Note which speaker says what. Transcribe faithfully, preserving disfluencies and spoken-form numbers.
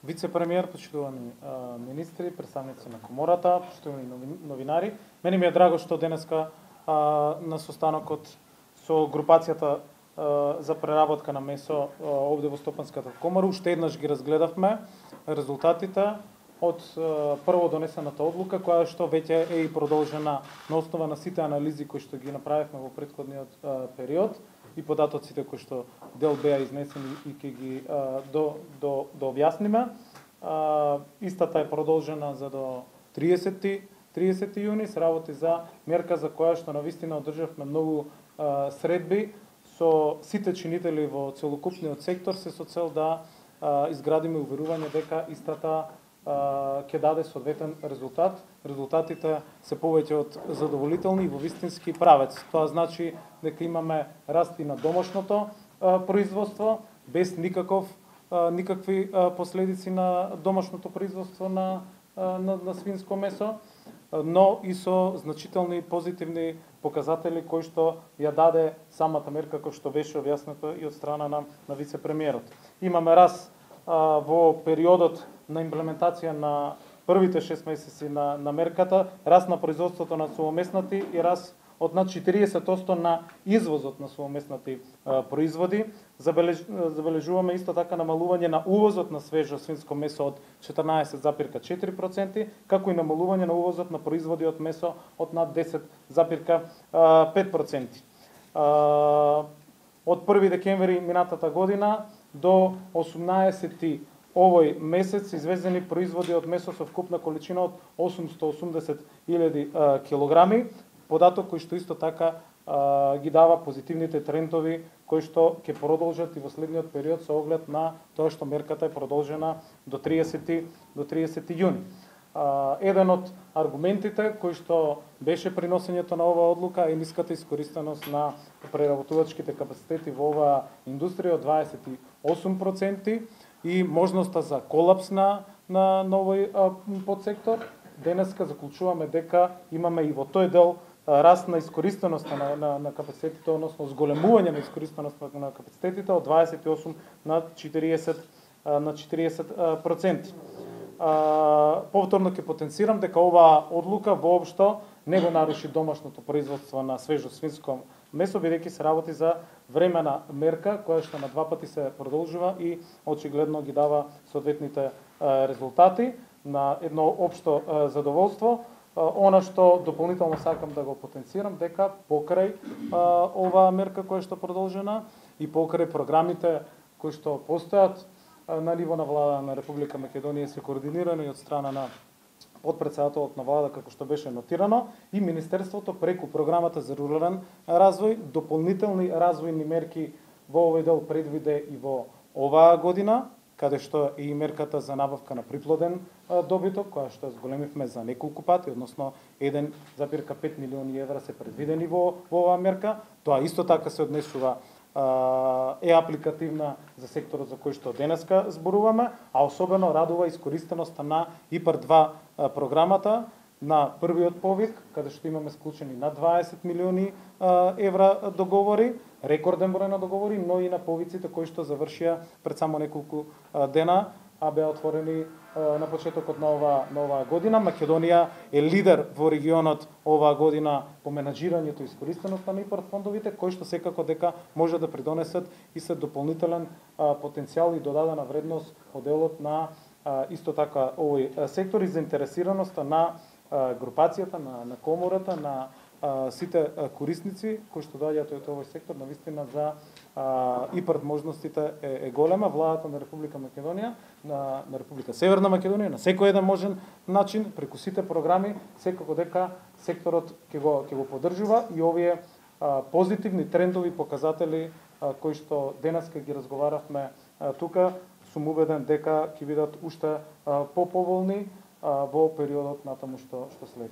Speaker 1: вице-премиер, почитувани министри, представници на комората, почитувани новинари. Мене ми е драго што денеска а, на состанокот со групацијата а, за преработка на месо а, овде во Стопанската комора уште еднаш ги разгледавме резултатите од а, прво донесената одлука, која што веќе е и продолжена на основа на сите анализи кои што ги направивме во претходниот а, период и податоците кои што дел беа изнесени и ќе ги а, до до до објасниме. А, истата е продолжена за до триесети јуни, се работи за мерка за која што навистина одржавме многу а, средби со сите чинители во целокупниот сектор, се со цел да а, изградиме уверување дека истата ќе даде соодветен резултат. Резултатите се повеќе од задоволителни и во вистински правец. Тоа значи дека имаме раст и на домашното а, производство, без никаков а, никакви а, последици на домашното производство на, а, на, на свинско месо, но и со значителни позитивни показатели кои што ја даде самата мерка, кој што беше објаснато и од страна на, на вице-премиерот. Имаме раст а, во периодот на имплементација на првите шест месеци на, на мерката, раст на производството на сувомеснати и раст од над четириесет одсто на извозот на сувомеснати а, производи. Забележ, забележуваме исто така намалување на увозот на свежо свинско месо од четрнаесет запирка четири проценти, како и намалување на увозот на производи од месо од над десет запирка пет проценти. А, од први декември минатата година до осумнаесети овој месец извезени производи од месо со вкупна количина од осумсто осумдесет илјади килограми, податок кој што исто така а, ги дава позитивните трендови кои што ќе продолжат и во следниот период со оглед на тоа што мерката е продолжена до триесети јуни. А, еден од аргументите кои што беше приносењето на оваа одлука е ниската искористеност на преработувачките капацитети во оваа индустрија од дваесет и осум проценти и можноста за колапс на на новој подсектор. Денеска заклучуваме дека имаме и во тој дел раст на искористеноста на, на, на капацитетите, односно зголемување на искористеноста на капацитетите од дваесет и осум на четириесет на четириесет проценти. Повторно ќе потенцирам дека оваа одлука воопшто не го наруши домашното производство на свежо свинско месо, бидејќи се работи за времена мерка која што на два пати се продолжува и очигледно ги дава соодветните резултати на едно општо задоволство. Она што дополнително сакам да го потенцирам дека покрај оваа мерка која што продолжена и покрај програмите кои што постојат на ниво на влада на Република Македонија се координирано и од страна на подпредседателот на влада, како што беше нотирано, и Министерството преку програмата за рурален развој дополнителни развојни мерки во овој дел предвиде и во оваа година, каде што е и мерката за набавка на приплоден добиток, која што зголемивме за неколку пати, односно еден запирка пет милиони евра се предвидени во, во оваа мерка. Тоа исто така се однесува е апликативна за секторот за кој што денеска зборуваме, а особено радува искористеноста на ИПАР два програмата на првиот повик, каде што имаме склучени над дваесет милиони евра договори, рекорден број на договори, но и на повиците кои што завршија пред само неколку дена, а беа отворени на почетокот на оваа на оваа година. Македонија е лидер во регионот оваа година по менаџирањето и искористеноста на ИПАР фондовите, кои што секако дека може да придонесат и се дополнителен потенцијал и додадена вредност од делот на исто така овој сектор и заинтересираноста на групацијата, на, на комората, на а, сите а, корисници кои што доаѓаат од овој сектор, навистина за а, ИПАР можностите е, е голема. Владата на Република Македонија, на, на Република Северна Македонија, на секој еден можен начин, преку сите програми, секако дека секторот ќе го, ќе го поддржува и овие а, позитивни трендови показатели а, кои што денеска ги разговаравме а, тука, сум убеден дека ќе бидат уште по-поволни во периодот натаму што што следи.